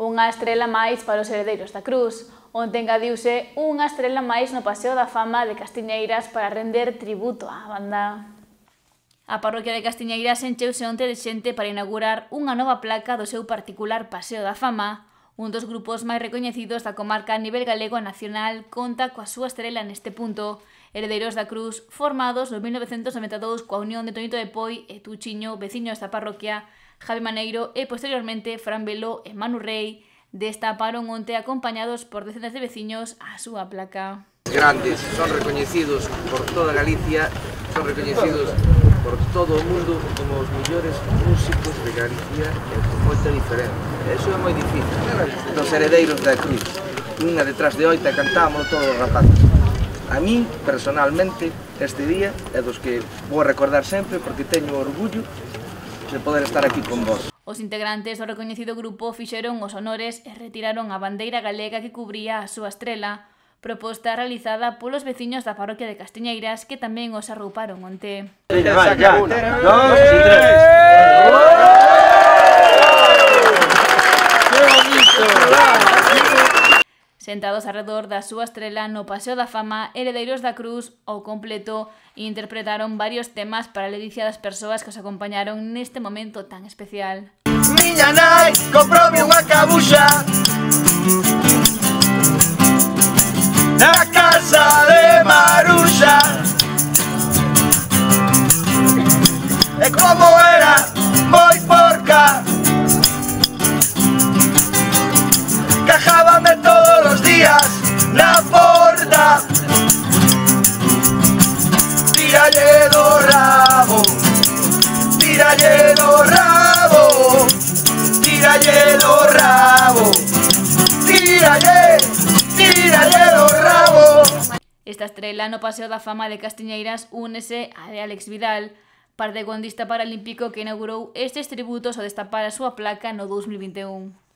Unha estrela máis para os heredeiros da Cruz. Onte engadiuse unha estrela máis no Paseo da Fama de Castiñeiras para render tributo á banda. A parroquia de Castiñeiras encheuse onte de xente para inaugurar unha nova placa do seu particular Paseo da Fama. Un dos grupos máis recoñecidos da comarca a nivel galego e nacional conta coa súa estrela neste punto. Heredeiros da Cruz, formados no 1992 coa unión de Toñito de Poi e Tuchiño, veciños da parroquia, Javi Maneiro e posteriormente Fran Beló e Manu Rei, destaparon onte acompañados por decenas de veciños a súa placa. Grandes, son recoñecidos por toda Galicia, son recoñecidos por todo o mundo como os mellores músicos de Galicia e con moita diferencia. Eso é moi difícil. Dos heredeiros da Cruz, unha detrás de oita, cantámoslo todos os rapaces. A min, personalmente, este día é dos que vou recordar sempre porque teño orgullo de poder estar aquí con vos. Os integrantes do recoñecido grupo fixeron os honores e retiraron a bandeira galega que cubría a súa estrela, proposta realizada polos veciños da parroquia de Castiñeiras que tamén os arrouparon onte. Sentados alrededor da súa estrela no Paseo da Fama, Heredeiros da Cruz, ao completo, interpretaron varios temas para a ledicia das persoas que os acompañaron neste momento tan especial. Miña nai comprome unha cabuxa na casa de Maruxa, e como era moi porca, cajábame todos os días na porta. Tíralle do rabo, tíralle do rabo, tíralle do rabo, tíralle, tíralle do rabo. Esta estrela no Paseo da Fama de Castiñeiras únese a de Alex Vidal, partaecuondista paralímpico que inaugurou estes tributos ao destapar a súa placa no 2021.